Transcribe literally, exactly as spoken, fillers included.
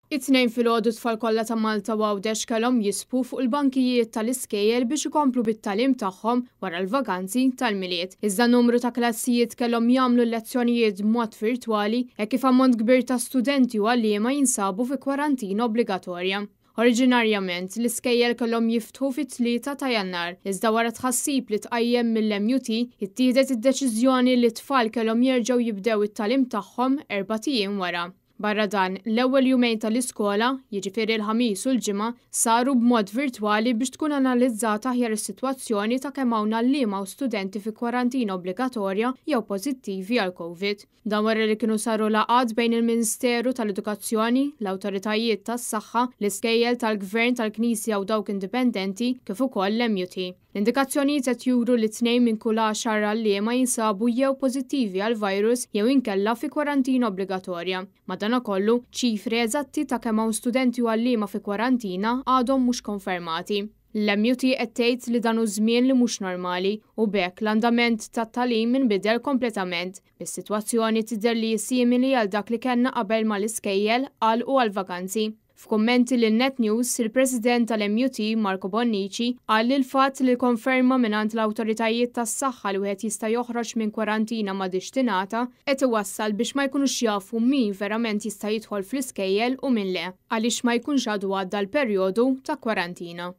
It-Tnejn filgħodu tfal kollha ta' Malta u Għawdex kellhom jisbu fuq il-bankijiet tal-iskejjel biex ikomplu bit-tagħlim tagħhom wara l-vaganzi tal-Milied. Iżda numru ta' klassijiet kellhom jagħmlu lezzjonijiet b'mod virtwali hekk kif ammont kbir ta' studenti u għalliema jinsabu fi kwarantina obbligatorja. Oriġinarjament, l-iskejjel kellhom jiftħu fit-tlieta ta' Jannar, iżda wara tħassib li tqajjem mill-M U T, ittieħdet id-deċiżjoni li t-tfal kellhom jerġgħu jibdew it-tagħlim tagħhom erbat ijiem wara. Barra dan, l-ewwel jumejn tal-iskola, jiġifieri l-Ħamis u l-Ġimgħa, saru b'mod virtwali biex tkun analizzata aħjar is-sitwazzjoni ta' kemm hawn għalliema u studenti fi kwarantina obbligatorja jew pożittivi għal Covid. Dan wara li kienu saru laqgħat bejn il-Ministeru tal-Edukazzjoni, l-awtoritajiet tas-saħħa, l-iskejjel tal-Gvern, tal-Knisja u dawk indipendenti, kif ukoll l-M U T. L-indikazzjonijiet qed juru li tnejn minn kull għaxar għalliema jinsabu jew pożittivi għal virus jew inkella fi kwarantina obbligatorja. Madanakollu, ċifri eżatti ta' kemm hawn studenti u għalliema fi kwarantina għadhom mhux konfermati. L-M U T qed tgħid li dan hu żmien li mhux normali u b'hekk l-andament tat-tagħlim inbidel kompletament, bis-sitwazzjoni tidher li simili għal dak li kellna qabel mal-iskejjel għalqu għal-vaganzi. F'kummenti lil Net News, il-President tal-M U T Marco Bonnici qal li l-fatt li konferma mingħand l-awtoritajiet tas-saħħa li wieħed jista' joħroġ minn kwarantina m'għadhiex tingħata qed iwassal biex ma jkunux jafu min verament jista' jidħol fl-iskejjel u min le, għaliex ma jkunx għadu għadda l-perjodu ta' kwarantina.